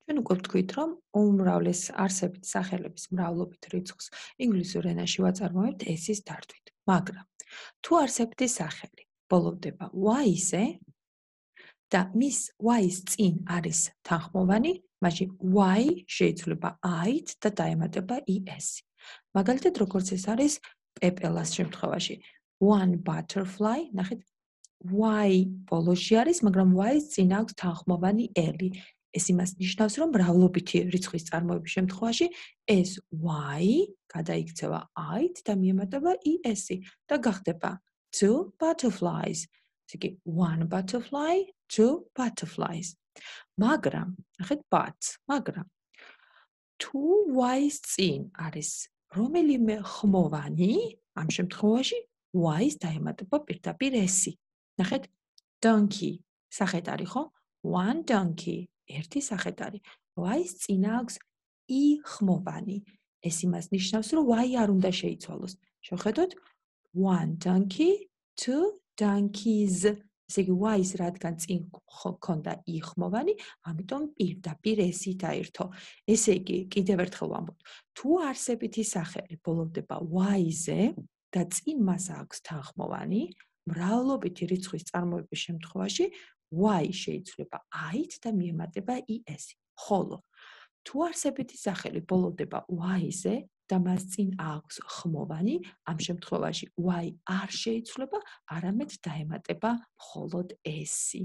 ჩვენ უკვე ვთქვით, რომ უმრავლეს არსებით სახელების მრავლობით რიცხვს ინგლისურ ენაში ვაწარმოებთ s-ის დართვით. მაგრამ თუ არსებითი სახელი ბოლოვდება y-ზე და მის y-ის წინ არის თანხმოვანი, მაშინ y შეიძლება i-ით და დაემატება es-ი. მაგალითად, როგორც ეს არის პეპელას შემთხვევაში. One butterfly, ნახეთ, y ბოლოში არის, მაგრამ y-ის წინ აქვს თანხმოვანი l-ი. ეს იმას ნიშნავს, რომ მრავლობითი რიცხვის წარმოების შემთხვევაში ეს y გადაიქცევა i-ით და მიემატება es-ი და გახდება two butterflies. ესე იგი, one butterfly, two butterflies. მაგრამ, ნახეთ, მაგრამ თუ y-ის წინ არის რომელიმე ხმოვანი, ამ შემთხვევაში y-ის დაემატება პირდაპირ s-ი. ნახეთ, donkey სახეთ არის, ხო? One donkey. ერთი სახეთ არის. y-ის წინ აქვს i ხმოვანი. ეს იმას ნიშნავს, რომ y არ უნდა შეიცვალოს. შევხედოთ, one donkey, two donkeys. ესე იგი, y-ის რადგან წინ ჰქონდა i ხმოვანი, ამიტომ პირდაპირ s-ი დაირთო. ესე იგი, კიდევ ერთხელ ვამბობ, თუ არსებითი სახელი ბოლოვდება y-ზე და წინ მას აქვს თანხმოვანი, მრავლობითი რიცხვის წარმოების შემთხვევაში y შეიცვლება i-ით და მიემატება es-ი. ხოლო თუ არსებითი სახელი ბოლოვდება y-ზე და მას წინ აქვს ხმოვანი, ამ შემთხვევაში y არ შეიცვლება, არამედ დაემატება მხოლოდ s-ი.